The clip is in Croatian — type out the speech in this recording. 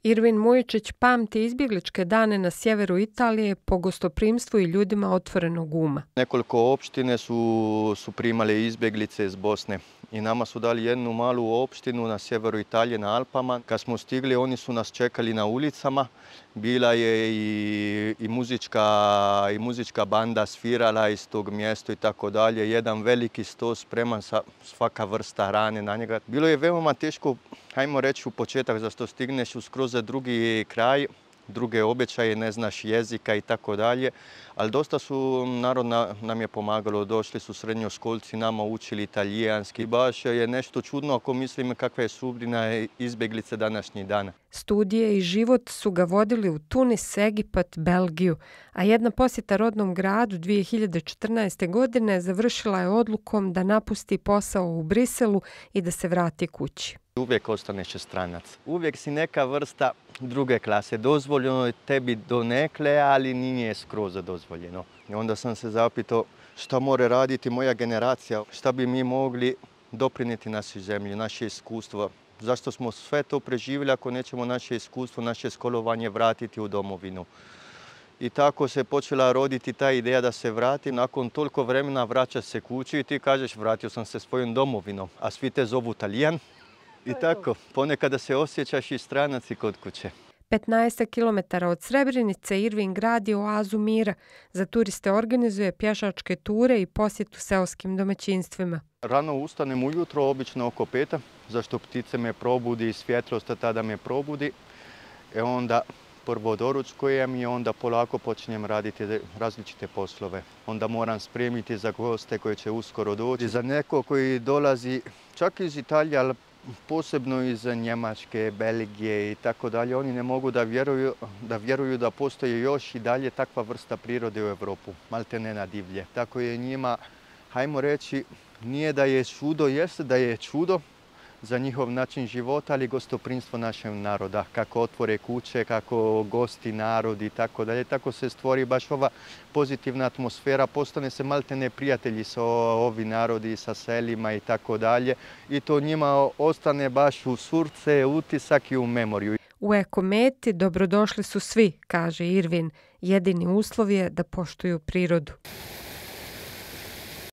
Irvin Mujičić pamti izbjegličke dane na sjeveru Italije po gostoprimstvu i ljudima otvorenog uma. Nekoliko opštine su primale izbjeglice iz Bosne i nama su dali jednu malu opštinu na sjeveru Italije na Alpama. Kad smo stigli, oni su nas čekali na ulicama. Bila je i muzička banda svirala iz tog mjesta i tako dalje. Jedan veliki sto spreman sa svaka vrsta hrane na njega. Bilo je veoma teško, hajmo reći, u početak, zašto stigneš u skroz drugi kraj, druge običaje, ne znaš jezika i tako dalje, ali dosta su narod nam je pomagalo, došli su srednjoškolci, nama učili italijanski. Baš je nešto čudno ako mislim kakva je sudbina izbjeglice današnjih dana. Studije i život su ga vodili u Tunis, Egipat, Belgiju, a jedna posjeta rodnom gradu 2014. godine završila je odlukom da napusti posao u Briselu i da se vrati kući. Uvijek ostaneš stranac. Uvijek si neka vrsta druge klase. Dozvoljeno je tebi donekle, ali nije skroz dozvoljeno. I onda sam se zapitao šta mora raditi moja generacija, šta bi mi mogli doprinijeti našoj zemlji, naše iskustvo. Zašto smo sve to preživjeli ako nećemo naše iskustvo, naše školovanje vratiti u domovinu. I tako se počela roditi ta ideja da se vrati. Nakon toliko vremena vraćaš se kući i ti kažeš vratio sam se svojom domovinom, a svi te zovu Talijan. I tako, ponekada se osjećaš i stranac i kod kuće. 15 km od Srebrenice Irvin gradi oazu mira. Za turiste organizuje pješačke ture i posjetu seoskim domaćinstvima. Rano ustanem ujutro, obično oko 5, zašto ptice me probudi i svjetlost tada me probudi. Onda prvo doručkujem i onda polako počinjem raditi različite poslove. Onda moram spremiti za goste koji će uskoro doći. Za neko koji dolazi čak iz Italije, ali posebno iz Njemačke, Belgije i tako dalje, oni ne mogu da vjeruju da postoji još i dalje takva vrsta prirode u Europu, maltene na divlje. Tako je njima, hajmo reći, nije da je čudo, jeste da je čudo za njihov način života, ali gostoprimstvo našeg naroda, kako otvore kuće, kako gosti narod i tako dalje. Tako se stvori baš ova pozitivna atmosfera, postane se maltene prijatelji sa ovi narodi, sa selima i tako dalje. I to njima ostane baš u srce, utisak i u memoriju. U Ekometi dobrodošli su svi, kaže Irvin. Jedini uslov je da poštuju prirodu.